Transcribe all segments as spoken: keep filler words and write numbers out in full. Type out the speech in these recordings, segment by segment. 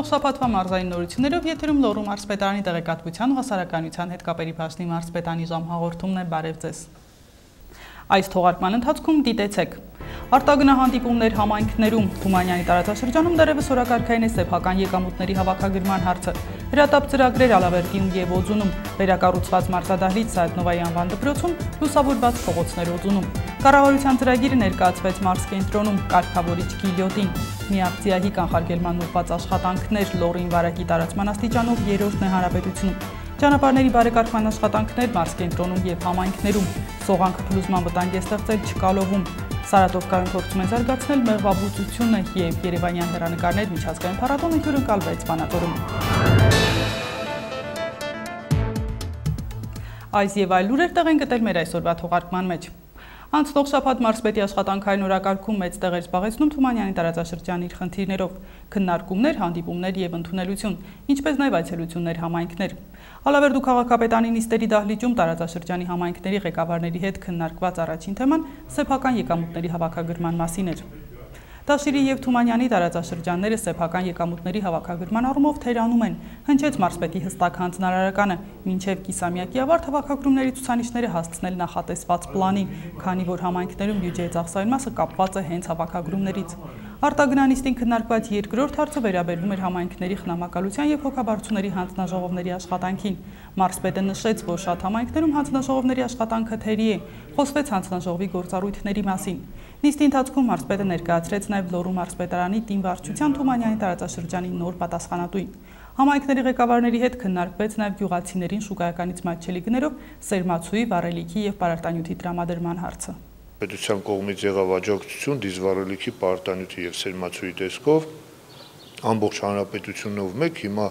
Անցնող շաբաթվա մարզային նորություններով եթերում Լոռու մարզպետարանի տեղեկատվության ու հասարակայնության հետ կապերի բաժնի մարզպետանի ժամ հաղորդումն է, բարև ձեզ։ Այս թողարկման ընթացքում դիտեցեք. արտագնահանդիպումներ համայնքներում, Թումանյանի տարածաշրջանում դեռևս օրակարգային է սեփական եկամուտների հավաքագրման հարցը, հրատապ ծրագրեր Ալավերդիում և Օձունում, վերակառուցված մարզադահլիճ Սայաթնովայի անվան դպրոցում, լուսավորված փողոցներ Օձունում, կառավարության ծրագիրը ներկայացվեց մարզկենտրոնում, կարգավորիչ Գիլյոտին, միակցիայի կանխարգելման ուղղված աշխատանքներ Լոռին վարակի տարածման աստիճանով երրորդն է հանրապետությունում, ճանապարհների բարեկարգման աշխատանքներ մարզկենտրոնում և համայնքներում, սողանքը փլուզման վտանգ է ստեղծել Չկալովում, Սարատովկայում փորձում են զարգացնել մեղվաբուծությունը և երևանյան հեռանկարներ միջազգային փառատոնը հյուրընկալվեց Վանաձորում։ Այս և այլ լուրեր տեղ են գտել մեր այսօրվա թողարկման մեջ։ Անցնող շաբաթ մարզպետի աշխատանքային օրակարգում մեծ տեղ էր զբաղեցնում Թումանյանի տարածաշրջանի իր խնդիրներով, քննարկումներ, հանդիպումներ և ընդունելություն, ինչպես նաև այցելություններ համայնքներ։ Ալավերդու քաղաքապետանի նիստերի դահլիճում տարածաշրջանի համայնքների ղեկավարների հետ քննարկված առաջին թեման սեփական եկամուտների հավաքագրման մասին էր։ Տաշիրի և Թումանյանի տարածաշրջանները սեփական եկամուտների հավաքագրման առումով թերանում են, հնչեց մարզպետի հստակ հանձնարարականը, մինչև կիսամյակի ավարտ հավաքագրումների ցուցանիշները հասցնել նախատեսված պլանին, քանի որ համայնքներում բյուջեի ծախսային մասը կապված է հենց հավաքագրումներից։ Արտագնանիստին քննարկված երկրորդ հարցը վերաբերվում էր համայնքների խնամակալության և հոգաբարձուների հանձնաժողովների աշխատանքին։ Մարզպետը նշեց, որ շատ համայնքներում հանձնաժողովների աշխատանքը թերի է, խոսվեց հանձնաժողովի գործառույթների մասին։ Նիստի ընթացքում մարզպետը ներկայացրեց նաև Լոռու մարզպետարանի տին վարչության Թումանյանի տարածաշրջանի նոր պատասխանատուին։ Համայնքների ղեկավարների հետ քննարկվեց նաև գյուղացիներին շուկայականից մատչելի գներով սերմացուի, վառելիքի և պարարտանյութի տրամադրման հարցը։ Պետության կողմից եղավ աջակցություն դիզվառելիքի, պարարտանյութի և սերմացուի տեսքով ամբողջ հանրապետությունով մեկ, հիմա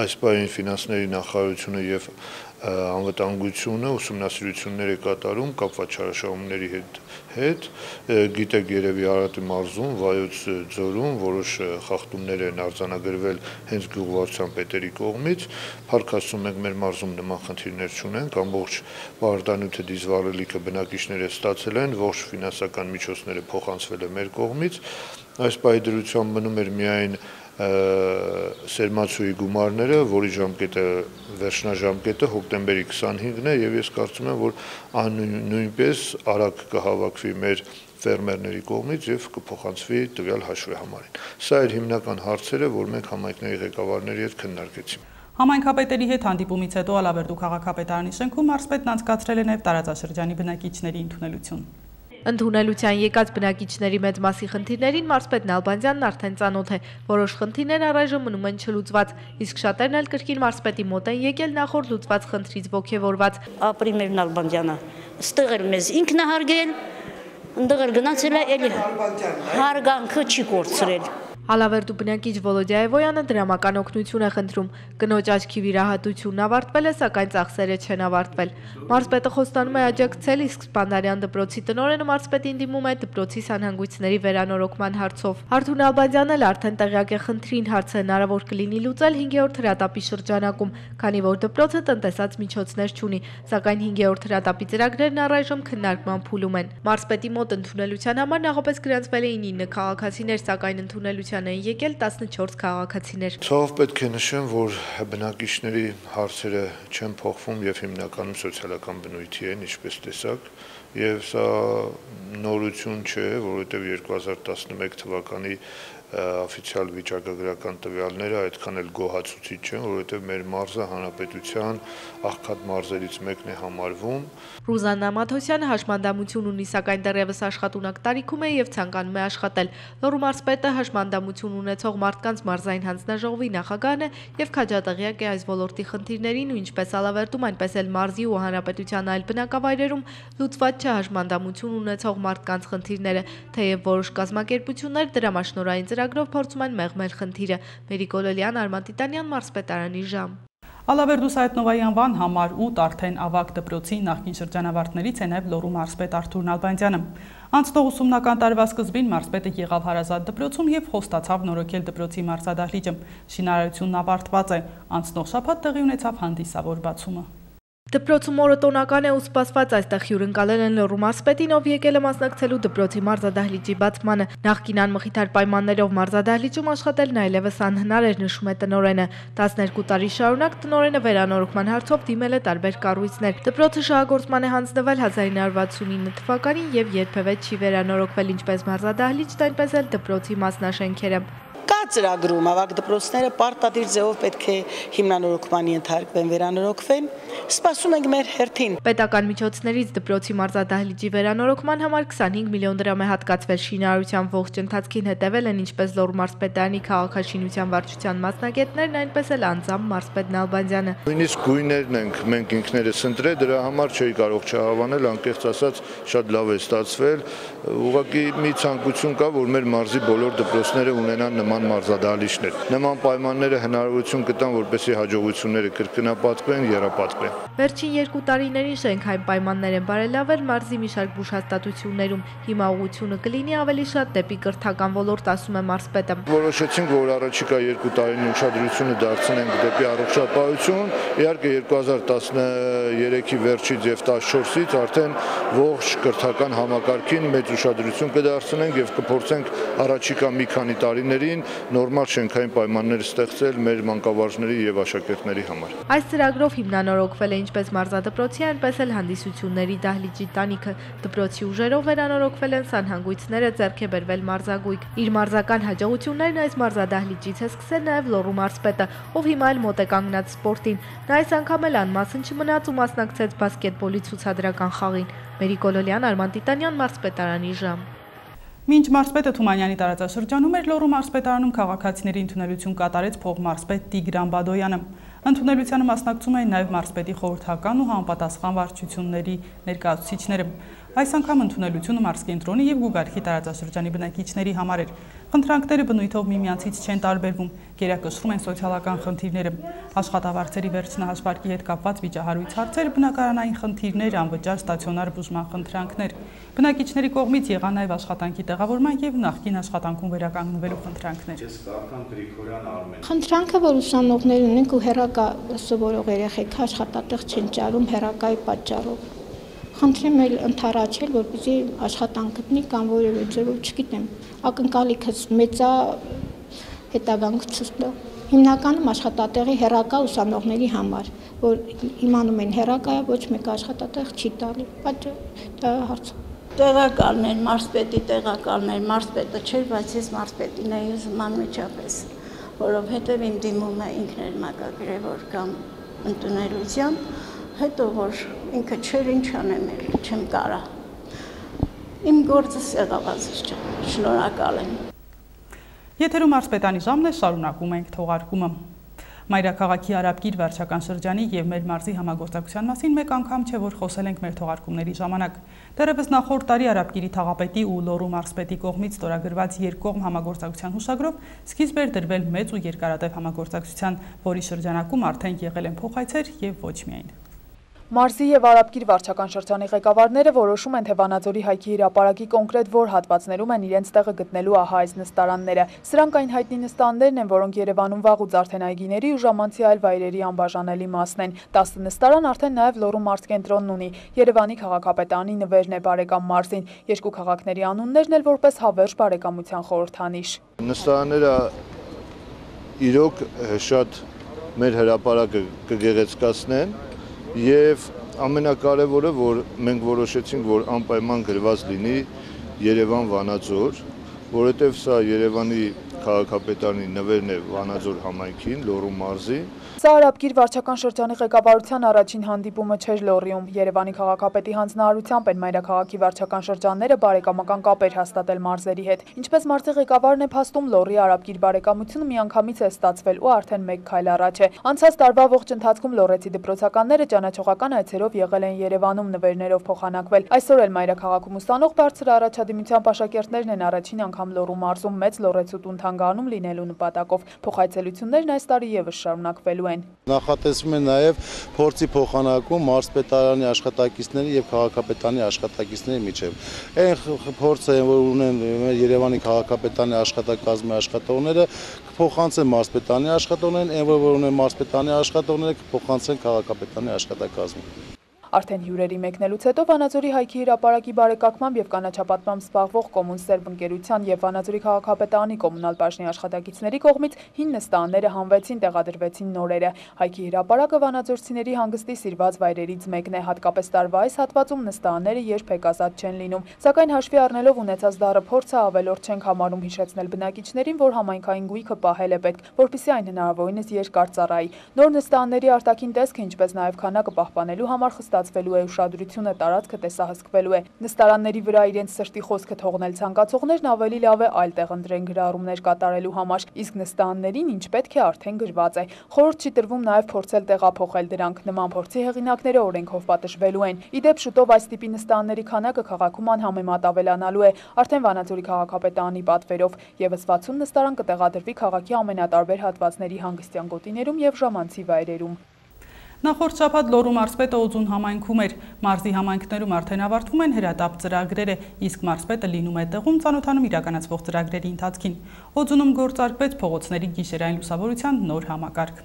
այս պահին ֆինանսների նախարարությունը և անվտանգությունը ուսումնասիրություններ է կատարում կապված չարաշահումների հետ, հետ գիտեք երևի Արարատի մարզում, Վայոց ձորում որոշ խախտումներ են արձանագրվել հենց գյուղվարչության պետերի կողմից, փառք Աստծո մենք մեր մարզում նման խնդիրներ չունենք, ամբողջ պարարտանյութը դիզվառելիքը բնակիչները ստացել են, ողջ ֆինանսական միջոցները փոխանցվել է մեր կողմից, այս պահի դրությամբ մնում էր միայն սերմացուի գումարները, որի ժամկետը վերջնաժամկետը հոկտեմբերի քսանհինգն է և ես կարծում եմ, որ նույնպես արագ կհավաքվի մեր ֆերմերների կողմից և կփոխանցվի տվյալ հաշվեհամարին։ Սա էր հիմնական հարցերը, որ մենք համայնքների ղեկավարների հետ քննարկեցինք։ Համայնքապետերի հետ հանդիպումից հետո Ալավերդու քաղաքապետարանի շենքում մարզպետն անցկացրել է նաև տարածաշրջանի բնակիչների ընդունելություն։ Ընդունելության եկած բնակիչների մեծ մասի խնդիրներին մարզպետ Նալբանդյանն արդեն ծանոթ է, որոշ խնդիրներ առայժմ մնում են չլուծված, իսկ շատերն էլ կրկին մարզպետի մոտ են եկել նախորդ լուծված խնդրից ոգևորված։ Ապրիմեր Նալբանդյանը ստեղ էլ մեզ ինքն է հարգել, ընդեղ էլ գնացել է, էլի հարգանքը չի կորցրել։ Ալավերդու բնակիչ Վոլոդիա Էվոյանը դրամական օգնություն է խնդրում։ Կնոջ աչքի վիրահատությունն ավարտվել է, սակայն ծախսերը չեն ավարտվել։ Մարզպետը խոստանում է աջակցել, իսկ Սպանդարյան դպրոցի տնօրենը մարզպետին դիմում է դպրոցի սանհանգույցների վերանորոգման հարցով։ Արթուր Ալբանդյանն էլ արդեն տեղյակ է խնդրին, հարցը հնարավոր կլինի լուծել հինգերորդ հրատապի շրջանակում, քանի որ դպրոցը տնտեսած միջոցներ չունի, սակայն հինգերորդ հրատապի ծրագրերն առայժմ քննարկման փուլում են։ Մարզպետի մոտ ընդունելության համար նախապես գրանցվել էին ինը քաղաքացիներ, սակայն ընդունելության են եկել տասնչորս քաղաքացիներ։ Ցավով պետք է նշեմ, որ բնակիչների հարցերը չեն փոխվում եւ հիմնականում սոցիալական բնույթի են, ինչպես տեսակ, եւ սա նորություն չէ, որովհետեւ երկու հազար տասնմեկ թվականի օֆիցիալ վիճակագրական տվյալները այդքան էլ գոհացուցիչ չեն, որովհետև մեր մարզը հանրապետության աղքատ մարզերից մեկն է համարվում։ Ռուզաննա Մաթոսյանը հաշմանդամություն ունի, սակայն դեռևս աշխատունակ տարիքում է եւ ցանկանում է աշխատել։ Լոռու մարզպետը հաշմանդամություն ունեցող մարդկանց մարզային հանձնաժողովի նախագահն է եւ քաջատեղյակ է այս ոլորտի խնդիրներին ու ինչպես Ալավերդում, այնպես էլ մարզի ու հանրապետության այլ բնակավայրերում լուծված չէ հաշմանդամություն ունեցող մարդկանց խնդիրները, թեև որոշ կազմակերպություններ դրամաշնորհային ծրագրով փորձում են մեղմել խնդիրը։ Մերիկոլոլյան, Արման Տիտանյան, մարզպետարանի ժամ։ Ալավերդու Սայաթնովայի անվան համար ութ արդեն ավագ դպրոցի նախկին շրջանավարտներից է նաև Լոռու մարզպետ Արթուր Նալբանդյանը։ Անցնող ուսումնական տարվա սկզբին մարզպետը եղավ Հարազատ դպրոցում և խոստացավ նորոգել դպրոցի մարզադահլիճը։ Շինարարությունն ավարտված է։ Անցնող շաբաթ տեղի ունեցավ հանդիսավոր բացումը։ Դպրոցում օրը տոնական է ու սպասված այստեղ հյուրընկալել են Լոռու մարզպետին, ով եկել է մասնակցելու դպրոցի մարզադահլիճի բացմանը։ Նախկին անմխիթար պայմաններով մարզադահլիճում աշխատելն այլևս անհնար էր, նշում է տնօրենը։ տասներկու տարի շարունակ տնօրենը վերանորոգման հարցով դիմել է տարբեր կառույցներ։ Դպրոցը շահագործման է հանձնվել հազար ինը հարյուր վաթսունինը թվականին եւ երբևէ չի վերանորոգվել ինչպես մարզադահլիճն, այնպես էլ դպրոցի մասնաշենքերը։ Կա ծրագրում ավագ դպրոցները պարտադիր ձևով պետք է հիմնանորոգման ենթարկվեն, վերանորոգվեն, սպասում ենք մեր հերթին։ Պետական միջոցներից դպրոցի մարզադահլիճի վերանորոգման համար քսանհինգ միլիոն դրամ է հատկացվել։ Շինարարության ողջ ընթացքին հետևել են ինչպես Լոռու մարզպետարանի քաղաքաշինության վարչության մասնագետներն, այնպես էլ անձամբ մարզպետ Նալբանդյանը։ Նույնիսկ գույներն ենք մենք ինքներս ընտրել, դրա համար չէի կարող չհավանել, անկեղծ ասած շատ լավ է ստացվել։ Ուղղակի մի ցանկություն կա, որ մեր մարզի բոլոր դպրոցները ունենան նման մարզադահլիճներ։ Նման պայմանները հնարավորություն կտան, որպեսզի հաջողությունները կրկնապատկվեն, եռապատկվեն։ Վերջին երկու տարիներին շենքային պայմաններ են բարելավել մարզի մի շարք բուժհաստատություններում։ Հիմա ուղղությունը կլինի ավելի շատ դեպի կրթական ոլորտ, ասում է մարզպետը։ Որոշեցինք, որ առաջիկա երկու տարին ուշադրությունը դարձնենք դեպի առողջապահություն։ Իհարկե երկու հազար տասներեքի վերջից եւ տասնչորսից արդեն ողջ կրթական համակարգին մեծ ուշադրություն կդարձնենք եւ կփորձենք առաջիկա մի քանի տարիներին նորմալ շենքային պայմաններ ստեղծել մեր մանկավարժների եւ աշակերտների համար։ Այս ծրագրով հիմնանորոգվել է ինչպես մարզադպրոցի, այնպես էլ հանդիսությունների դահլիճի տանիքը։ Դպրոցի ուժերով վերանորոգվել են սանհանգույցները, ձեռք է բերվել մարզագույք։ Իր մարզական հաջողություններն այս մարզադահլիճից է սկսել նաեւ Լոռու մարզպետը, ով հիմա էլ մոտ է կանգնած սպորտին։ Նա այս անգամ էլ անմասն չմնաց ու մասնակցեց բասկետբոլի ցուցադրական խաղին։ Մերի Կոլոլյան, Արման Տիտանյան, մարզպետարանի ժամ։ Մինչ մարզպետը Թումանյանի տարածաշրջանում էր, Լոռու մարզպետարանում քաղաքացիների ընդունելություն կատարեց փոխմարզպետ Տիգրան Բադոյանը։ Ընդունելությանը մասնակցում էին նաև մարզպետի խորհրդական ու համապատասխան վարչությունների ներկայացուցիչները։ Այս անգամ ընդունելությունը մարզկենտրոնի եւ Գուգարքի տարածաշրջանի բնակիչների համար էր։ Խնդրանքները բնույթով միմյանցից չեն տարբերվում, գերակշռում են սոցիալական խնդիրները, աշխատավարձերի վերջնահաշվարկի հետ կապված վիճահարույց հարցեր, բնակարանային խնդիրներ, անվճար ստացիոնար բուժման խնդրանքներ։ Բնակիչների կողմից եղան նաև աշխատանքի տեղավորման եւ նախկին աշխատանքում վերականգնվելու խնդրանքներ։ Խնդրանքը, որ ուսանողներ ունենք ու հեռակա սովորող երեխեք աշխատատեղ չեն ճարում հեռակայի պատճառով։ Խնդրեմ էլ ընդառաջել, որպեսզի աշխատանք գտնի կամ որևէ ձևով, չգիտեմ, ակնկալիքս մեծա հետագանքը ցույց տա։ Հիմնականում աշխատատեղի հեռակա ուսանողների համար, որ իմանում են հեռակայը ոչ մեկ աշխատատեղ չի տալի։ Դա հարց։ Տեղակալներ, մարզպետի տեղակալներ, մարզպետը չէր, բայց ես մարզպետին էի ուզում անմիջապես, որովհետև իմ դիմումը ինքն էր մակագրել, որ կամ ընդունելության, հետո որ ինքը չէր, ինչ անեմ, չեմ կարա։ Իմ գործս եղավ, շնորհակալ եմ։ Եթերում մարզպետանի ժամն է, շարունակում ենք թողարկումը։ Մայրաքաղաքի Արաբկիր վարչական շրջանի եւ մեր մարզի համագործակցության մասին մեկ անգամ չէ, որ խոսել ենք մեր թողարկումների ժամանակ։ Դեռևս նախորդ տարի Արաբկիրի թաղապետի ու Լոռու մարզպետի կողմից ստորագրված երկկողմ համագործակցության հուշագրով սկիզբ էր դրվել մեծ ու երկարատև համագործակցության, որի շրջանակում արդեն եղել են փոխայցեր եւ ոչ միայն։ Մարզի եւ Արաբկիր վարչական շրջանի ղեկավարները որոշում են, թե Վանաձորի հայքի հրապարակի կոնկրետ որ հատվածներում են իրենց տեղը գտնելու ահա այս նստարանները։ Սրանք այն հայտնի նստարաններն են, որոնք Երևանում վաղուց արդեն այգիների ու ժամանցի այլ վայրերի անբաժանելի մասն են։ տասը նստարան արդեն նաեւ Լոռու մարզկենտրոնն ունի։ Երևանի քաղաքապետարանի նվերն է բարեկամ մարզին։ Երկու քաղաքների անուններն էլ որպես հավերժ բարեկամության խորհրդանիշ։ Նստարանները իրոք շատ մեր հրապարակը կգեղեցկացնեն։ Եվ ամենակարևորը, որ մենք որոշեցինք, որ անպայման գրված լինի Երևան-Վանաձոր, որովհետև սա Երևանի քաղաքապետարանի նվերն է Վանաձոր համայնքին, Լոռու մարզի։ Սա Արաբկիր վարչական շրջանի ղեկավարության առաջին հանդիպումը չէր Լոռիում։ Երևանի քաղաքապետի հանձնարարությամբ են մայրաքաղաքի վարչական շրջանները բարեկամական կապեր հաստատել մարզերի հետ։ Ինչպես մարզի ղեկավարն է փաստում, Լոռի Արաբկիր բարեկամությունը միանգամից է ստացվել ու արդեն մեկ քայլ առաջ է։ Անցած տարվա ողջ ընթացքում լոռեցի դպրոցականները ճանաչողական այցերով եղել են Երևանում նվերներով փոխանակվել։ Այսօր էլ մայրաքաղաքում ուսանող բարձր առաջադիմությամբ աշակերտներն են առաջին անգամ Լոռու մարզում մեծ լոռեցու տուն թանգարանում լինելու նպատակով։ Փոխայցելություններն այս տարի եւս շարունակվելու են։ են։ Նախատեսվում է նաև փորձի փոխանակում մարզպետարանի աշխատակիցների եւ քաղաքապետարանի աշխատակիցների միջև։ Այն փորձը, որ ունեն Երևանի քաղաքապետարանի աշխատակազմի աշխատողները, կփոխանցեն մարզպետարանի աշխատողներին, այն որ ունեն մարզպետարանի աշխատողները, կփոխանցեն քաղաքապետարանի աշխատակազմին։ Արդեն հյուրերի մեկնելուց հետո Վանաձորի Հայքի հրապարակի բարեկարգմամբ եւ կանաչապատմամբ զբաղվող Կոմունսերվ ընկերության եւ Վանաձորի քաղաքապետարանի կոմունալ բաժնի աշխատակիցների կողմից հին նստարանները հանվեցին, տեղադրվեցին նորերը։ Հայքի հրապարակը վանաձորցիների հանգստի սիրված վայրերից մեկն է, հատկապես տարվա այս հատվածում նստարանները երբեք ազատ չեն լինում։ Սակայն հաշվի առնելով ունեցած դառը փորձը ավելորդ չենք համարում հիշեցնել բնակիչներին, որ համայնքային գույքը պահել է պետք, որպեսզի այն հնարավորինս երկար ծառայի։ Նոր նստարանների արտաքին տեսքը, ինչպես նաեւ քանակը պահպանելու համար խստացվելու է, ուշադրությունը տարածքը տեսահսկվելու է։ Նստարանների վրա իրենց սրտի խոսքը թողնել ցանկացողներն ավելի լավ է այլ տեղ ընտրեն գրառումներ կատարելու համար, իսկ նստարաններին ինչ պետք է արդեն գրված է։ Խորհուրդ չի տրվում նաև փորձել տեղափոխել դրանք։ Նման փորձի հեղինակները օրենքով պատժվելու են։ Ի դեպ շուտով այս տիպի նստարանների քանակը քաղաքում անհամեմատ ավելանալու է։ Արդեն Վանաձորի քաղաքապետարանի պատվերով եւս վաթսուն նստարան կտեղադրվի քաղաքի ամենատարբեր հատվածների հանգստյան գոտիներում եւ ժամանցի վայրերում։ Նախորդ շաբաթ Լոռու մարզպետը Օձուն համայնքում էր։ Մարզի համայնքներում արդեն ավարտվում են հրատապ ծրագրերը, իսկ մարզպետը լինում է տեղում ծանոթանում իրականացվող ծրագրերի ընթացքին։ Օձունում գործարկվեց փողոցների գիշերային լուսավորության նոր համակարգ։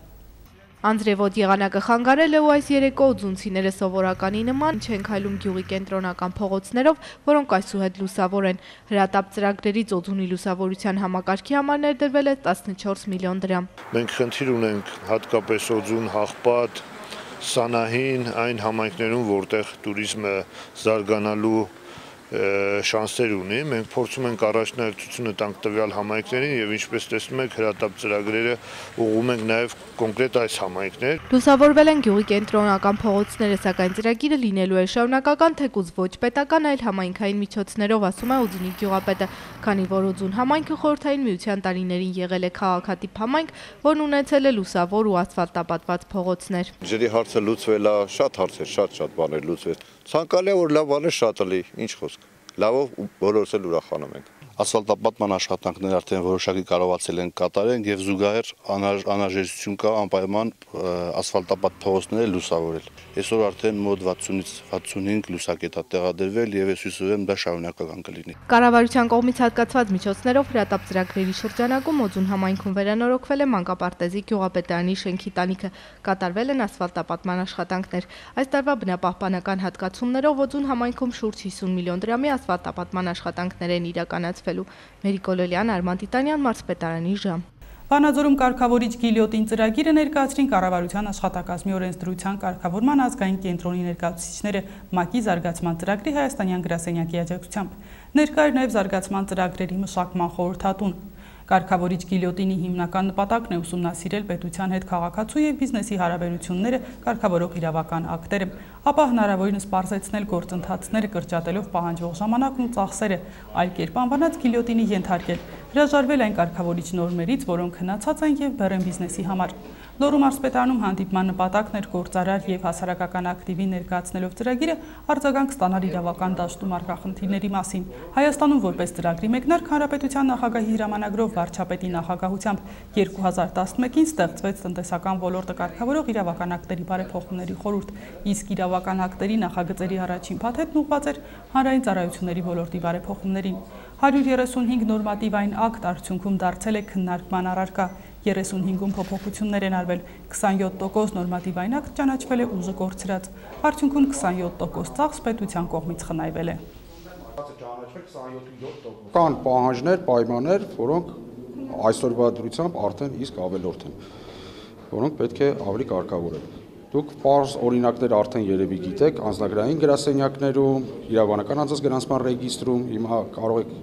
Անձրևոտ եղանակը խանգարել է ու այս երեկո օձունցիները սովորականի նման չեն քայլում գյուղի կենտրոնական փողոցներով, որոնք այսուհետ լուսավոր են։ Հրատապ ծրագրերից Օձունի լուսավորության համակարգի համար ներդրվել է տասնչորս միլիոն դրամ։ Մենք խնդիր ունենք հատկապես Օձուն, Հաղպատ, Սանահին, այն համայնքներում, որտեղ туриզմը զարգանալու շանսեր ունի, մենք փորձում ենք առաջնահերթությունը տանք տվյալ համայնքներին եւ ինչպես տեսնում եք հրատապ ծրագրերը ուղղում ենք նաեւ կոնկրետ այս համայնքներ։ Լուսավորվել են գյուղի կենտրոնական փողոցները, սակայն ծրագիրը լինելու է շարունակական, թեկուզ ոչ պետական, այլ համայնքային միջոցներով, ասում է Օձունի գյուղապետը, քանի որ Օձուն համայնքը խորհրդային միության տարիներին եղել է քաղաքատիպ համայնք, որն ունեցել է լուսավոր ու ասֆալտապատված փողոցներ։ Ջրի հարցը լուծվել է, շատ հարցեր, շատ-շատ բաներ լուծվել։ Ցանկալի է որ լավ բաներ շատ լի, ինչ խոսք։ Լավով բոլորս էլ ուրախանում ենք։ Ասֆալտապատման աշխատանքները արդեն որոշակի կարողացել են կատարել եւ զուգահեռ անհրաժեշտություն կա անպայման ասֆալտապատ փողոցները լուսավորել։ Այսօր արդեն մոտ վաթսունից վաթսունհինգ լուսակետ է տեղադրվել եւ ես հույս ունեմ դա շարունակական կլինի։ Կառավարության կողմից հատկացված միջոցներով հրատապ ծրագրերի շրջանակում Օձուն համայնքում վերանորոգվել է մանկապարտեզի գյուղապետարանի շենքի տանիքը, կատարվել են ասֆալտապատման աշխատանքներ։ Այս տարվա բնապահպանական հատկացումներով Օձուն համայնքում շուրջ հիսուն միլիոն դրամի ասֆալտապատման աշխատանքներ են իրականացվել։ Մերի Կոլոլյան, Արման Տիտանյան, մարզպետարանի ժամ։ Վանաձորում կարգավորիչ գիլյոտին ծրագիրը ներկայացրին կառավարության աշխատակազմի օրենսդրության կարգավորման ազգային կենտրոնի ներկայացուցիչները ՄԱԿ-ի զարգացման ծրագրի հայաստանյան գրասենյակի աջակցությամբ։ Ներկա էր նաև զարգացման ծրագրերի մշակման խորհրդատուն։ Կարգավորիչ գիլյոտինի հիմնական նպատակն է ուսումնասիրել պետության հետ քաղաքացու եւ բիզնեսի հարաբերությունները կարգավորող իրավական ակտերը, ապա հնարավորինս պարզեցնել գործընթացները կրճատելով պահանջվող ժամանակն ու ծախսերը, այլ կերպ անվանած գիլյոտինի ենթարկել, հրաժարվել այն կարգավորիչ նորմերից, որոնք հնացած են եւ բեռ են բիզնեսի համար։ Լոռու մարզպետարանում հանդիպման նպատակն էր գործարար եւ հասարակական ակտիվի ներկայացնելով ծրագիրը արձագանք ստանալ իրավական դաշտում առկա խնդիրների մասին։ Հայաստանում որպես ծրագրի մեկնարկ հանրապետության նախագահի հրամանագրով վարչապետի նախագահությամբ երկու հազար տասնմեկին ստեղծվեց տնտեսական ոլորտը կարգավորող իրավական ակտերի բարեփոխումների խորհուրդ, իսկ իրավական ակտերի նախագծերի առաջին փաթեթն ուղղված էր հանրային ծառայությունների ոլորտի բարեփոխումներին։ հարյուր երեսունհինգ նորմատիվային ակտ արդյունքում դարձել է քննարկման առարկա, երեսունհինգում փոփոխություններ են արվել, քսանյոթ տոկոս նորմատիվային ակտ ճանաչվել է ուժը կորցրած, արդյունքում քսանյոթ տոկոս ծախս պետության կողմից խնայվել է։ Կան պահանջներ, պայմաններ, որոնք այսօրվա դրությամբ արդեն իսկ ավելորդ են, որոնք պետք է ավելի կարգավորել։ Դուք պարզ օրինակներ արդեն երևի գիտեք, անձնագրային գրասենյակներում, իրավաբանական անձանց գրանցման ռեգիստրում, հիմա կարող եք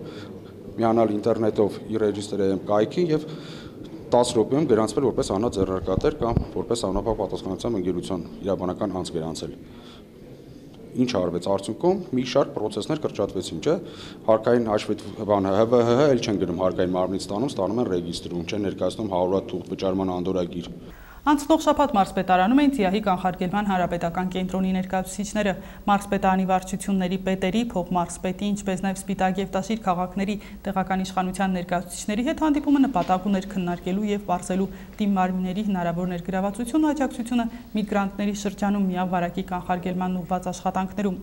միանալ ինտերնետով ի ռեգիստրի կայքին եւ տասը րոպեում գրանցվել որպես անձնաձեռնարկատեր կամ որպես անապահով պատասխանատվության ընկերության իրավաբանական անձ գրանցել։ Ինչ արվեց արդյունքում, մի շարք process-ներ կրճատվեցին, չէ՞։ Հարկային հաշվի բանը Հ V Հ էլ չեն գնում հարկային մարմնից ստանում, ստանում են ռեգիստրում, չեն ներկայացնում հարյուր հատ թուղթ վճարման անդորրագիր։ Անցնող շաբաթ մարզպետարանում էին ՑԻԱՀ-ի կանխարգելման հանրապետական կենտրոնի ներկայացուցիչները, մարզպետարանի վարչությունների պետերի, փոխմարզպետի, ինչպես նաև Սպիտակ և Տաշիր քաղաքների տեղական իշխանության ներկայացուցիչների հետ հանդիպումը նպատակ ուներ քննարկելու և պարզելու թիմ մարմինների հնարավոր ներգրավվածությունը աջակցությունը միգրանտների շրջանում միավարակի կանխարգելման ուղղված աշխատանքներում։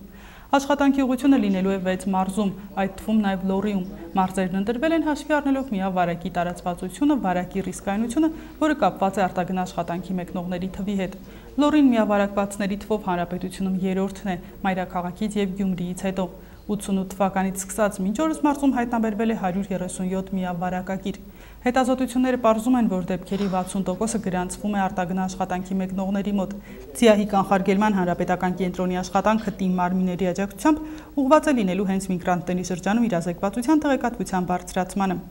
Աշխատանքի ուղղությունը լինելու է վեց մարզում, այդ թվում նաև Լոռիում։ Մարզերն ընտրվել են հաշվի առնելով միավարակի տարածվածությունը, վարակի ռիսկայնությունը, որը կապված է արտագն աշխատանքի մեկնողների թվի հետ։ Լոռին միավարակվածների թվով հանրապետությունում երրորդն է, մայրաքաղաքից և Գյումրիից հետո։ ութսունութ թվականից սկսած մինչ օրս մարզում հայտնաբերվել է հարյուր երեսունյոթ միավարակագիր։ Հետազոտությունները պարզում են, որ դեպքերի վաթսուն տոկոսը գրանցվում է արտագն աշխատանքի մեկնողների մոտ։ ՑԻԱՀ-ի կանխարգելման հանրապետական կենտրոնի աշխատանքը թիմ մարմինների աջակցությամբ ուղղված է լինելու հենց միգրանտների շրջանում իրազեկվածության տեղեկատվության բարձրացմանը։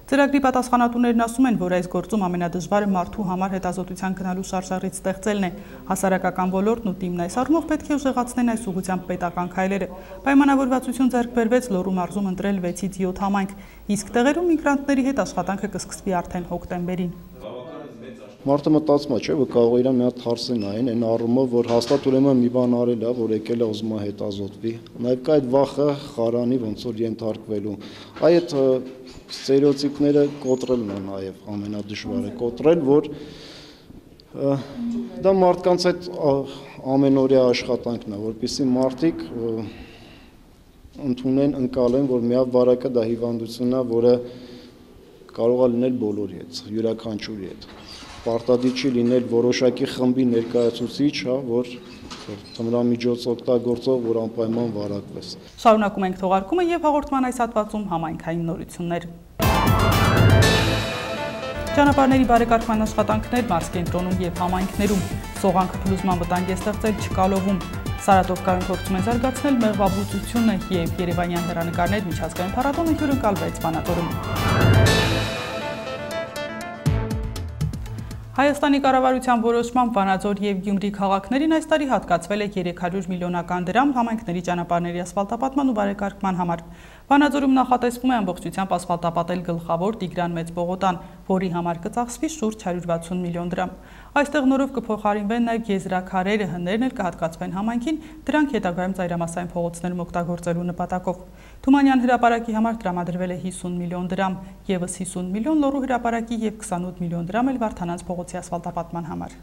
Ծրագրի պատասխանատուներն ասում են, որ այս գործում ամենադժվարը մարդու համար հետազոտության գնալու շարժառիթ ստեղծելն է։ Հասարակական ոլորտն ու թիմն այս առումով պետք է ուժեղացնեն այս ուղղությամբ պետական քայլերը։ Պայմանավորվածություն ձեռք բերվեց Լոռու մարզում ընտրել վեցից յոթ համայնք, իսկ տեղերում միգրանտների հետ աշխատանքը կսկսվի արդեն հոկտեմբերին։ Մարդը մտածում է, չէ, որ կարող է իրան մի հատ հարց նային, այն առումով, որ հաստատ ուրեմն մի բան արել է, որ եկել է ուզում է հետազոտվի։ Նաև կա այդ վախը խարանի ոնց որ ենթարկվելու։ Այդ ստերեոտիպները կոտրելն է նաև ամենադժվարը, կոտրել, որ դա մարդկանց այդ ամենօրյա աշխատանքն է, որպեսզի մարդիկ ընդունեն, ընկալեն, որ միավարակը դա հիվանդությունն է, որը կարող է լինել բոլորի հետ, յուրաքանչյուրի հետ։ Պարտադիր չի լինել որոշակի խմբի ներկայացուցիչ, հա, որ թմրամիջոց օգտագործող, որ անպայման վարակվես։ Շարունակում ենք թողարկումը եւ հաղորդման այս հատվածում համայնքային նորություններ։ Ճանապարհների բարեկարգման աշխատանքներ մարզկենտրոնում եւ համայնքներում, սողանքը փլուզման վտանգ է ստեղծել Չկալովում։ Սարատովկայում փորձում են զարգացնել մեղվաբուծությունը եւ Երևանյան հեռանկարներ միջազգային փառատոնը հյուրընկալվեց Վանաձորում։ Հայաստանի կառավարության որոշմամբ Վանաձոր և Գյումրի քաղաքներին այս տարի հատկացվել է երեք հարյուր միլիոնական դրամ համայնքների ճանապարհների ասֆալտապատման ու բարեկարգման համար։ Վանաձորում նախատեսվում է ամբողջությամբ ասֆալտապատել գլխավոր Տիգրան Մեծ պողոտան, որի համար կծախսվի շուրջ հարյուր վաթսուն միլիոն դրամ։ Այստեղ նորով կփոխարինվեն նաև եզրաքարերը, հներն էլ կհատկացվեն համայնքին, դրանք հետագայում ծայրամասային փողոցներում օգտագործելու նպատակով։ Թումանյան հրապարակի համար տրամադրվել է հիսուն միլիոն դրամ, ևս հիսուն միլիոն Լոռու հրապարակի և քսանութ միլիոն դրամ էլ Վարդանանց փողոցի ասֆալտապատման համար։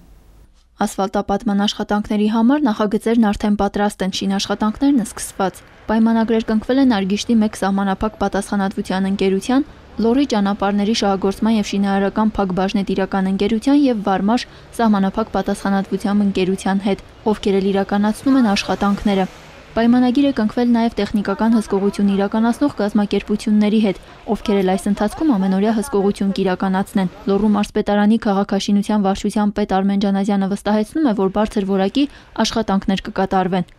Ասֆալտապատման աշխատանքների համար նախագծերն արդեն պատրաստ են, շինաշխատանքներն սկսված։ Պայմանագրեր կնքվել են Արգիշտի մեկ սահմանափակ պատասխանատվության ընկերության, Լոռի ճանապարհների շահագործման և շինարարական փակ բաժնետիրական ընկերության և Վարմաշ սահմանափակ պատասխանատվությամբ ընկերության հետ, ովքեր էլ իրականացնում են աշխատանքները։ Պայմանագիր է կնքվել նաև տեխնիկական հսկողություն իրականացնող կազմակերպությունների հետ, ովքեր էլ այս ընթացքում ամենօրյա հսկողություն կիրականացնեն։ Լոռու մարզպետարանի քաղաքաշինության վարչության պետ Արմեն Ջանազյանը վստահեցնում է, որ բարձր որակի աշխատանքներ կկատարվեն։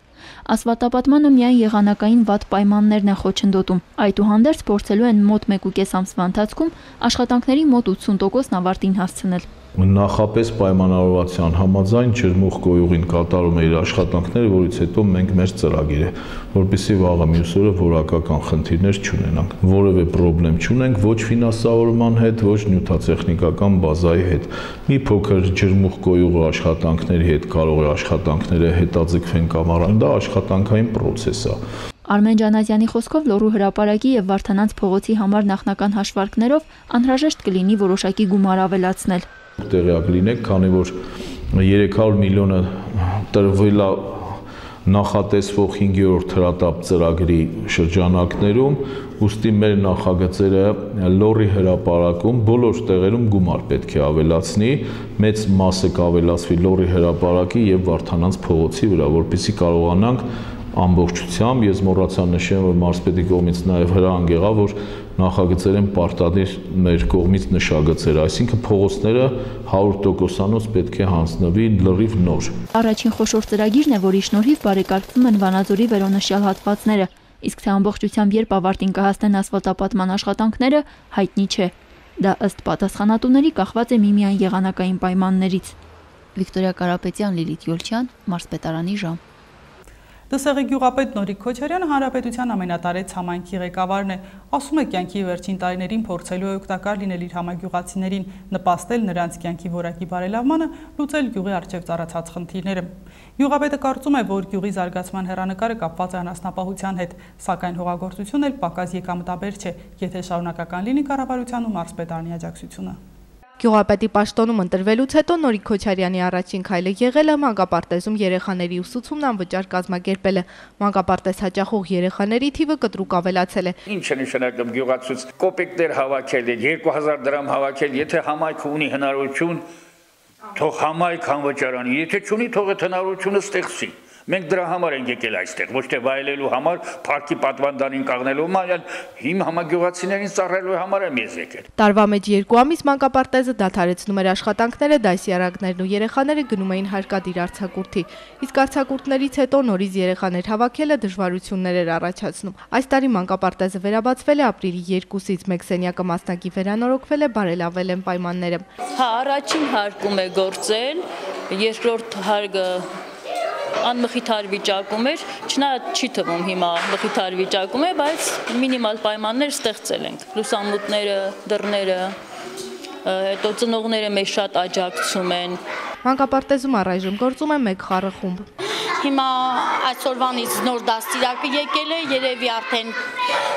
Ասֆալտապատմանը միայն եղանակային վատ պայմաններն են խոչընդոտում։ Այդուհանդերձ փորձելու են մոտ մեկ ու կես ամսվա ընթացքում աշխատանքների մոտ ութսուն տոկոսն ավարտին հասցնել։ Նախապես պայմանավորվածության համաձայն ջրմուղ գոյուղին կատարում է իր աշխատանքները, որից հետո մենք մեր ծրագիրը, որպեսզի վաղը մյուս օրը որակական խնդիրներ չունենանք։ Որևէ խնդրեմ չունենք ոչ ֆինանսավորման հետ, ոչ նյութատեխնիկական բազայի հետ։ Մի փոքր ջրմուղ գոյուղի աշխատանքների հետ կարող է աշխատանքները հետաձգվեն կամ առան, դա աշխատանքային պրոցես է։ Արմեն Ջանազյանի խոսքով Լոռու հրապարակի և Վարդանանց փողոցի համար նախնական հաշվարկներով անհրաժեշտ կլինի որոշակի գումար ավելացնել։ Տեղյակ լինեք, քանի որ երեք հարյուր միլիոնը տրվել է նախատեսվող հինգերորդ հրատապ ծրագրի շրջանակներում, ուստի մեր նախագծերը Լոռի հրապարակում բոլոր տեղերում գումար պետք է ավելացնի, մեծ մասը կավելացվի Լոռի հրապարակի և Վարդանանց փողոցի վրա, որպեսզի կարողանանք ամբողջությամբ, ես մոռացա նշեմ, որ մարզպետի կողմից նաև հրահանգ եղավ, որ նախագծեր են պարտադիր մեր կողմից նշագծեր, այսինքն փողոցները հարյուր տոկոսանոց պետք է հանձնվի լրիվ նոր։ Առաջին խոշոր ծրագիրն է, որի շնորհիվ բարեկարգվում են Վանաձորի վերոնշյալ հատվածները, իսկ թե ամբողջությամբ երբ ավարտին կհասնեն ասֆալտապատման աշխատանքները, հայտնի չէ։ Դա ըստ պատասխանատուների կախված է միմիայն եղանակային պայմաններից։ Վիկտորիա Կարապետյան, Լիլիթ Յոլչյան, մարզպետարանի ժամ։ Դսեղի գյուղապետ Նորիկ Քոչարյանը հանրապետության ամենատարեց համայնքի ղեկավարն է, ասում է կյանքի վերջին տարիներին փորձելու է օգտակար լինել իր համագյուղացիներին, նպաստել նրանց կյանքի որակի բարելավմանը, լուծել գյուղի առջև ծառացած խնդիրները։ Գյուղապետը կարծում է, որ գյուղի զարգացման հեռանկարը կապված է անասնապահության հետ, սակայն հողագործությունն էլ պակաս եկամտաբեր չէ, եթե շարունակական լինի կառավարության ու մարզպետարանի աջակցությունը։ Գյուղապետի պաշտոնում ընտրվելուց հետո Նորիկ Քոչարյանի առաջին քայլը եղել է մանկապարտեզում երեխաների ուսուցումն անվճար կազմակերպելը։ Մանկապարտեզ հաճախող երեխաների թիվը կտրուկ ավելացել է։ Ինչ է նշանակում գյուղացուց կոպեկներ հավաքել, երկու հազար դրամ հավաքել, եթե համայնքը ունի հնարավորություն, թող համայնք անվճարանի, եթե չունի, թող այդ հնարավորությունը ստեղծի։ Մենք դրա համար ենք եկել այստեղ, ոչ թե վայելելու համար, парքի պատվանդանին կաղնելու համար, այլ իմ համագյուղացիներին ծառայելու համար եմ ես եկել։ Տարվա մեջ երկու ամիս մանկապարտեզը դադարեցնում էր աշխատանքները, դասյարակներն ու երեխաները գնում էին հարկադիր արձակուրդի։ Իսկ արձակուրդներից հետո նորից երեխաներ հավաքելը դժվարություններ էր առաջացնում։ Այս տարի մանկապարտեզը վերաբացվել է ապրիլի երկուսից, մեկ սենյակը մասնակի վերանորոգվել է, բարելավել են պայմանները։ Հա, առաջին հարկում է գործել, երկրորդ հարկը անմխիթար վիճակում էր, չնայած չի թվում հիմա մխիթար վիճակում է, բայց մինիմալ պայմաններ ստեղծել ենք։ Լուսամուտները, դռները, հետո ծնողները մեզ շատ աջակցում են։ Մանկապարտեզում առայժմ գործում է մեկ խառախումբ։ Հիմա այսօրվանից նոր դաստիարակը եկել է, երևի արդեն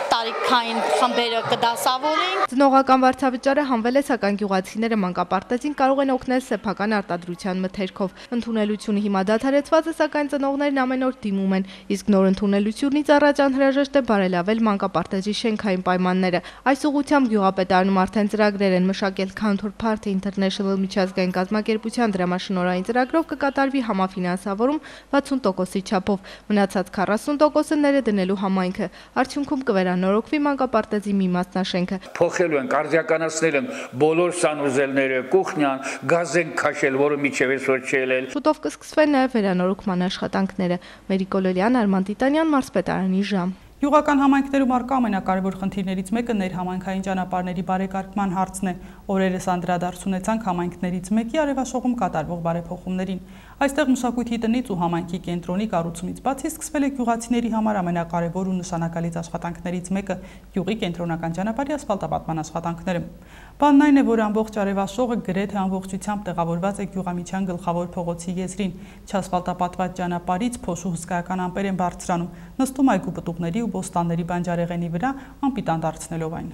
տարիքային խմբերը կդասավորեն։ Ծնողական վարձավճարը հանվել է, սակայն գյուղացիները մանկապարտեզին կարող են օգնել սեփական արտադրության մթերքով։ Ընդունելությունը հիմա դադարեցված է, սակայն ծնողներն ամեն օր դիմում են, իսկ նոր ընդունելությունից առաջ անհրաժեշտ է բարելավել մանկապարտեզի շենքային պայմանները։ Այս ուղղությամբ գյուղապետարանում արդեն ծրագրեր են մշակել Counter Party International միջազգային կազմակերպության դրամաշնորհային ծրագրով կկատարվի համաֆինանսավորում վաթսուն տոկոսի չափով, մնացած քառասուն տոկոսը ներդնելու համայնքը։ Արդյունքում կվերանորոգվի մանկապարտեզի մի մասնաշենքը։ Փոխելու են, արդիականացնել են բոլոր սանուզելները, կուխնյան, գազ են քաշել, որը միջև այսօր չի ելել։ Շուտով կսկսվեն նաև վերանորոգման աշխատանքները։ Մերիկ Օլոլյան, Արման Տիտանյան, մարզպետարանի ժամ։ Գյուղական համայնքներում առկա ամենակարևոր խնդիրներից մեկը ներհամայնքային ճանապարհների բարեկարգման հարցն է։ Օրերս անդրադարձ ունեցանք համայնքներից մեկի արևաշողում կատարվող բարեփոխումներին։ Այստեղ մշակույթի տնից ու համայնքի կենտրոնի կառուցումից բացի սկսվել է գյուղացիների համար ամենակարևոր ու նշանակալից աշխատանքներից մեկը՝ գյուղի կենտրոնական ճանապարհի ասֆալտապատման աշխատանքները։ Բանն այն է, որ ամբողջ արևաշողը գրեթե ամբողջությամբ տեղավորված է Գյուղամիջյան գլխավոր փողոցի եզրին։ Չասֆալտապատված ճանապարհից փոշու հսկայական ամպեր են բարձրանում, նստում այգու պտուղների ու բոստանների բանջարեղենի վրա, անպիտան դարձնելով այն։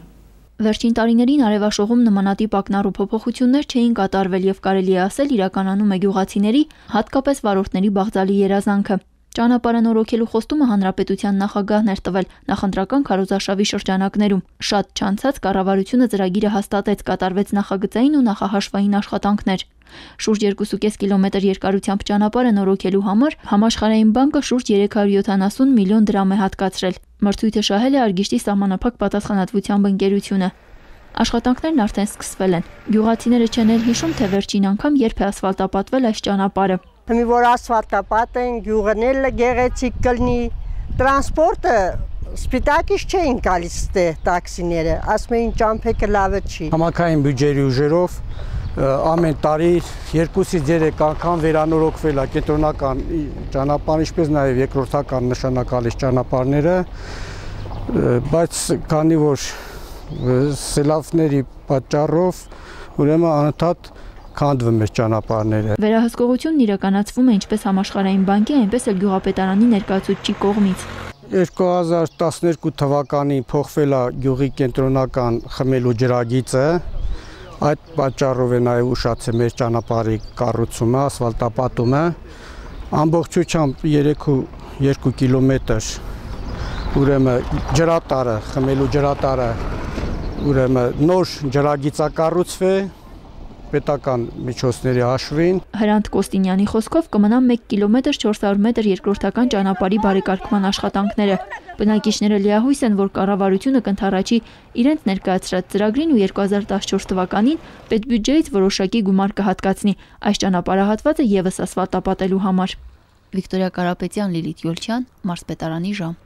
Վերջին տարիներին արևաշողում նմանատիպ ակնառու փոփոխություններ չէին կատարվել եւ կարելի է ասել իրականանում է գյուղացիների, հատկապես վարորդների բաղձալի երազանքը։ Ճանապարհը նորոգելու խոստումը հանրապետության նախագահն էր տվել նախընտրական քարոզարշավի շրջանակներում։ Շատ չանցած կառավարությունը ծրագիրը հաստատեց, կատարվեց նախագծային ու նախահաշվային աշխատանքներ։ Շուրջ երկուսուկես կիլոմետր երկարությամբ ճանապարհը նորոգելու համար Համաշխարհային բանկը շուրջ երեք հարյուր յոթանասուն միլիոն դրամ է հատկացրել։ Մրցույթը շահել է Արգիշտի սահմանափակ պատասխանատվությամբ ընկերությունը։ Աշխատանքներն արդեն սկսվել են։ Գյուղացիները չեն էլ հիշում, թե վերջին անգամ երբ է ասֆալտապատվել այս ճանապարհը։ Մի որ ասֆալտապատ են, գյուղն էլ գեղեցիկ կլինի, տրանսպորտը սպիտակից չէին գալիս տաքսիները, ասում էին ճամփեքը լավը չի։ Համակային բյուջեի ուժերով ամեն տարի երկուսից երեք անգամ վերանորոգվել է կենտրոնական ճանապարհ, ինչպես նաև երկրորդական նշանակալից ճանապարհները, բայց քանի որ սելավների պատճառով ուրեմն անընդհատ քանդվում է ճանապարհները։ Վերահսկողությունն իրականացվում է ինչպես Համաշխարհային բանկի, այնպես էլ գյուղապետարանի ներկայացուցիչի կողմից։ երկու հազար տասներկու թվականին փոխվել է գյուղի կենտրոնական խմելու ջրագիծը, այդ պատճառով է նաև ուշացել մեր ճանապարհի կառուցումը, ասֆալտապատումը, ամբողջությամբ երեք ու երկու կիլոմետր ուրեմն ջրատարը, խմելու ջրատարը, ուրեմն նոր ջրագիծակառուցվի պետական միջոցների հաշվին։ Հրանտ Կոստինյանի խոսքով կմնա մեկ կիլոմետր չորս հարյուր մետր երկրորդական ճանապարհի բարեկարգման աշխատանքները։ Բնակիչները լիահույս են, որ կառավարությունը կընդառաջի իրենց ներկայացրած ծրագրին ու երկու հազար տասնչորս թվականին պետբյուջեից որոշակի գումար կհատկացնի այս ճանապարհահատվածը եւս ասֆալտապատելու համար։ Վիկտորիա Կարապետյան, Լիլիթ Յոլչյան, մարզպետարանի ժամ։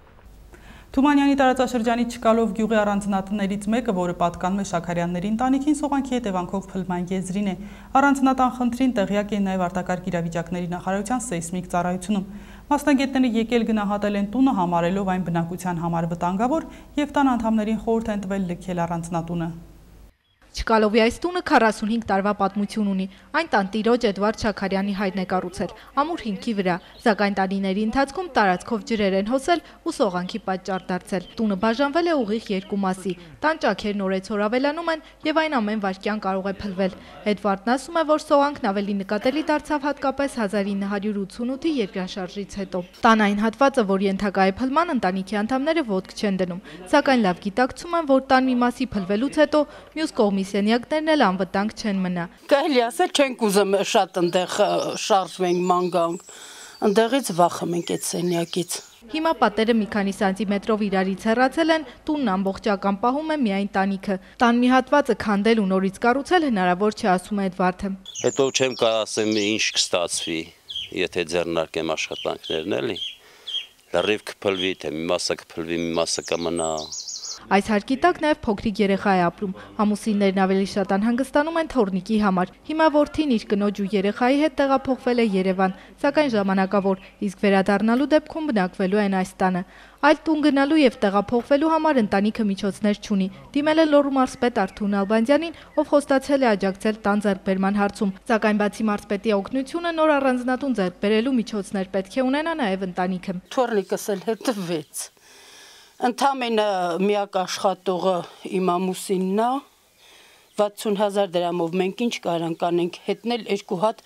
Թումանյանի տարածաշրջանի Չկալով գյուղի առանձնատներից մեկը, որը պատկանում է Շաքարյանների ընտանիքին, սողանքի հետևանքով փլման եզրին է։ Առանձնատան խնդրին տեղյակ են նաև արտակարգ իրավիճակների նախարարության սեյսմիկ ծառայությունում։ Մասնագետները եկել գնահատել են տունը, համարելով այն բնակության համար վտանգավոր եւ տան անդամներին խորհուրդ են տվել լքել առանձնատունը։ Չկալովի այս տունը քառասունհինգ տարվա պատմություն ունի։ Այն տանտիրոջ Էդվարդ Շաքարյանի հայրն է կառուցել, ամուր հիմքի վրա, սակայն տարիների ընթացքում տարածքով ջրեր են հոսել ու սողանքի պատճառ դարձել։ Տունը բաժանվել է ուղիղ երկու մասի, տան ճաքերն օրեցօր ավելանում են եւ այն ամեն վայրկյան կարող է փլվել։ Էդվարդն ասում է, որ սողանքն ավելի նկատելի դարձավ հատկապես հազար ինը հարյուր ութսունութի երկրաշարժից հետո։ Տան այն հատվածը, որ ենթակա է փլման, ընտանիքի անդամները ոտք չեն դնում, սակայն լավ գիտակցում են, որ տան մի մասի փլվելուց հետո մյուս կողմի սենյակներն էլ անվտանգ չեն մնա։ Կարելի ասել չենք ուզում շատ այնտեղ շարժվենք ման գանք, այնտեղից վախում ենք այդ սենյակից։ Հիմա պատերը մի քանի սանտիմետրով իրարից հեռացել են, տունն ամբողջական պահում է միայն տանիքը։ Տան մի հատվածը քանդել ու նորից կառուցել հնարավոր չէ, ասում է Էդվարդը։ Հետո չեմ կարող ասեմ ինչ կստացվի, եթե ձեռնարկեմ աշխատանքներն էլի։ Լրիվ կփլվի, թե մի մասը կփլվի, մի մասը կմնա։ Այս հարկի տակ նաև փոքրիկ երեխա է ապրում։ Ամուսիններն ավելի շատ անհանգստանում են թոռնիկի համար։ Հիմա որդին իր կնոջ ու երեխայի հետ տեղափոխվել է Երևան, սակայն ժամանակավոր, իսկ վերադառնալու դեպքում բնակվելու են այս տանը։ Այլ տուն գնալու եւ տեղափոխվելու համար ընտանիքը միջոցներ չունի։ Դիմել է Լոռու մարզպետ Արթուր Նալբանդյանին, ով խոստացել է աջակցել տան ձեռքբերման հարցում։ Սակայն բացի մարզպետի օգնությունը, նոր առանձնատուն ձեռքբերելու միջոցներ պետք է ունենա նաև ընտանիքը։ Թոռնիկս էլ հետևեց։ Ընդամենը միակ աշխատողը իմ ամուսինն է, վաթսուն հազար դրամով մենք ինչ կարանք անենք, հետնել երկու հատ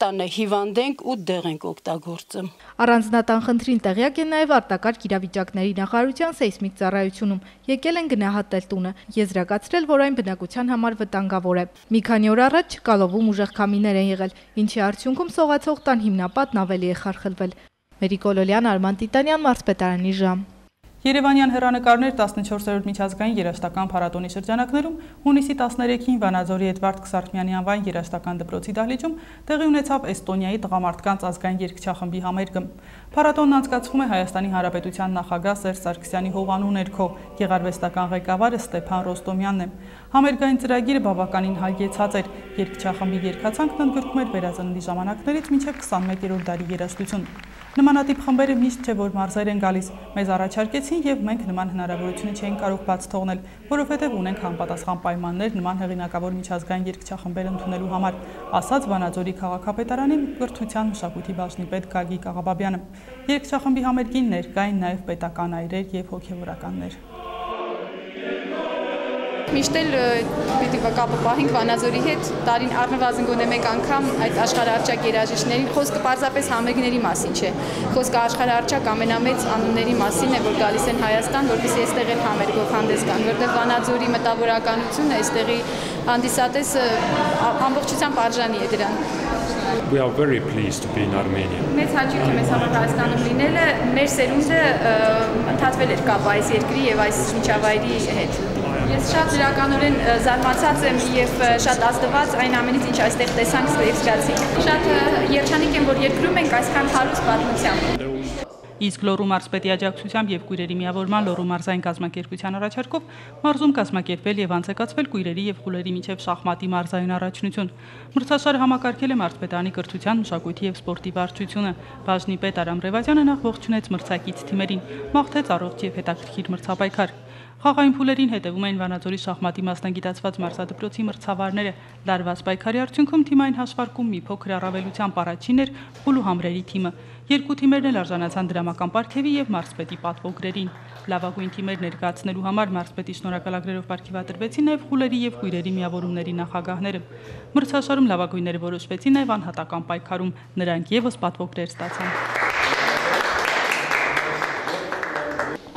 տանը հիվանդենք ու դեղ ենք օգտագործում։ Առանձնատան խնդրին տեղյակ են նաև արտակարգ իրավիճակների նախարարության սեյսմիկ ծառայությունում։ Եկել են գնահատել տունը, եզրակացրել, որ այն բնակության համար վտանգավոր է։ Մի քանի օր առաջ Չկալովում ուժեղ քամիներ են եղել, ինչի արդյունքում սողացող տան հիմնապատն ավելի է խարխլվել։ Մերիկ Օլոլյան, Արման Տիտանյան, Մարզպետարանի ժամ։ Երևանյան հեռանկարներ տասնչորսերորդ միջազգային երաժշտական փառատոնի շրջանակներում հունիսի տասներեքին Վանաձորի Էդվարդ Քսարթմյանի անվան երաժշտական դպրոցի դահլիճում տեղի ունեցավ Էստոնիայի տղամարդկանց ազգային երգչախմբի համերգը։ Փառատոնն անցկացվում է Հայաստանի Հանրապետության նախագահ Սերժ Սարգսյանի հովանու ներքո, գեղարվեստական ղեկավարը Ստեփան Ռոստոմյանն է։ Համերգային ծրագիրը բավականին հագեցած էր, երգչախմբի երգացանկն ընդգրկում էր վերածննդի ժամանակներից մինչև քսանմեկերորդ դարի երաժշտություն։ Նմանատիպ խմբերը միշտ չէ, որ մարզեր են գալիս, մեզ առաջարկեցին եւ մենք նման հնարավորությունը չէինք կարող բաց թողնել, որովհետեւ ունենք համապատասխան պայմաններ նման հեղինակավոր միջազգային երգչախմբեր ընդունելու համար, ասաց Վանաձորի քաղաքապետարանի կրթության մշակույթի բաժնի պետ Գագիկ Աղաբաբյանը։ Երգչախմբի համերգին ներկային նաեւ պետական այրեր եւ հոգեվորականներ։ Միշտ էլ պիտի կապը պահենք Վանաձորի հետ, տարին առնվազն գոնե մեկ անգամ այդ աշխարհահռչակ երաժիշտների խոսքը պարզապես համերգների մասին չէ։ Խոսքը աշխարհահռչակ ամենամեծ անունների մասին է, որ գալիս են Հայաստան, որպեսզի այստեղ էլ համերգով հանդես գան, որտեղ Վանաձորի մտավորականությունը այստեղի հանդիսատեսը ամբողջությամբ արժանի է դրան։ We are very pleased to be in Armenia. Մեծ հաճույք է մեզ համար Հայաստանում լինելը, մեր սերունդը ընդհատվել էր կապ այս երկրի եւ այս միջավայրի հետ։ Ես շատ դրականորեն զարմացած եմ եւ շատ ազդված այն ամենից, ինչ այստեղ տեսանք եւ զգացինք։ Շատ երջանիկ եմ, որ երկրում ենք այսքան հարուստ պատմությամբ։ Իսկ Լոռու մարզպետի աջակցությամբ եւ Կույրերի միավորման Լոռու մարզային կազմակերպության առաջարկով մարզում կազմակերպվել եւ անցկացվել Կույրերի եւ Խուլերի միջև շախմատի մարզային առաջնություն։ Մրցաշարը համակարգել է մարզպետարանի կրթության, մշակույթի եւ սպորտի վարչությունը։ Բաժնի պետ Արամ Ռևազյանը նախ ողջունեց մրցակից թիմերին, մաղթեց առողջ եւ հետաքրքիր մրցապայքար։ Խաղային փուլերին հետևում էին Վանաձորի շախմատի մասնագիտացված մարզադպրոցի մրցավարները։ Լարված պայքարի արդյունքում թիմային հաշվարկում մի փոքր առավելությամբ առաջին էր Խուլու համրերի թիմը։ Երկու թիմերն էլ արժանացան դրամական պարգևի եւ մարզպետի պատվոգրերին։ Լավագույն թիմեր ներկայացնելու համար մարզպետի շնորհակալագրերով պարգևատրվեցին նաեւ Խուլերի եւ Կույրերի միավորումների նախագահները։ Մրցաշարում լավագույնները որոշվեցին նաեւ անհատական պայքարում, նրանք եւս պատվոգրեր ստացան։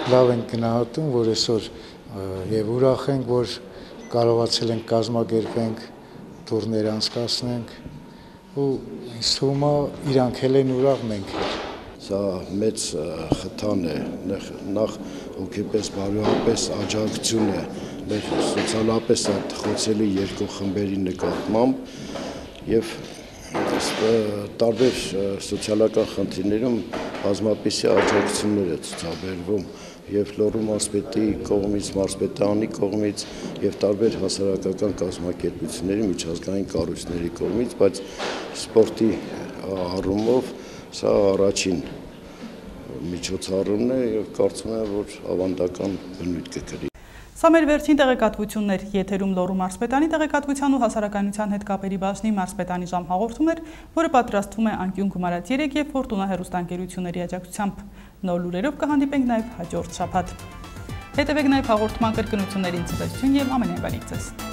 Լավ ենք գնահատում, որ այսօր եւ ուրախ ենք, որ կարողացել ենք կազմակերպենք, տուրներ անցկացնենք ու ինձ թվում է իրանք էլ են ուրախ, մենք էլ։ Սա մեծ խթան է, նախ հոգեպես, բարոյապես աջակցություն է մեր սոցիալապես խոցելի երկու խմբերի նկատմամբ եւ տարբեր սոցիալական խնդիրներում բազմապիսի աջակցություններ է ցուցաբերվում եւ Լոռու մարզպետի կողմից, մարզպետարանի կողմից եւ տարբեր հասարակական կազմակերպությունների, միջազգային կառույցների կողմից, բայց սպորտի առումով սա առաջին միջոցառումն է եւ կարծում եմ, որ ավանդական բնույթ կկրի։ Սա մեր վերջին տեղեկատվություններ, եթերում Լոռու մարզպետանի տեղեկատվության ու հասարակայնության հետ կապերի բաժնի մարզպետանի ժամ հաղորդում էր, որը պատրաստվում է Անկյուն Գումարած երեք եւ Ֆորտունա հեռուստաընկերությունների աջակցությամբ։ Նոր լուրերով կհանդիպենք նաեւ հաջորդ շաբաթ։ Հետևեք նաեւ հաղորդման կրկնություններին ցտեսություն եւ ամենայն բանից ձեզ։